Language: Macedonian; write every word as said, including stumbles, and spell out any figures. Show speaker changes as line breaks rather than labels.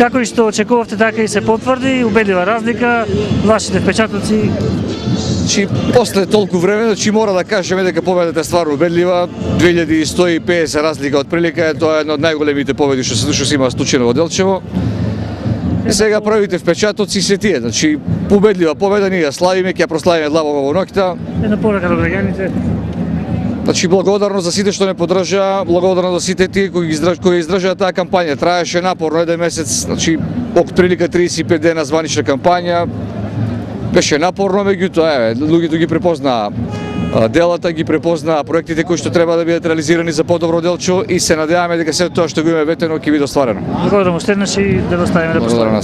Како и што очекувавте, така и се потврди, убедлива разлика, вашите впечатоци?
Значи, после толку време, значи мора да кажеме дека победата е стварно убедлива. две илјади сто и педесет разлика од прилика, тоа е една од најголемите победи што се се има случено во Делчево. И сега првите впечатоци се тие, значи убедлива победа, ние ја славиме, ќе ја прославиме длабоко во ноќта.
Една порака до граѓаните.
Значи благодарно за сите што не поддржаа, благодарно за сите тие кои ги издрж... кои издржаа таа кампања. Траеше напорно еден месец, значи од прилика триесет и пет дена званична кампања. Беше напорно, меѓутоа еве, луѓето ги препознаа делата, ги препознаа проектите кои што треба да бидат реализирани за подобро Делчево и се надеваме дека се тоа што го имаме ветено ќе биде остварено.
Благодарам уште еднаш и да го ставиме да поставиме.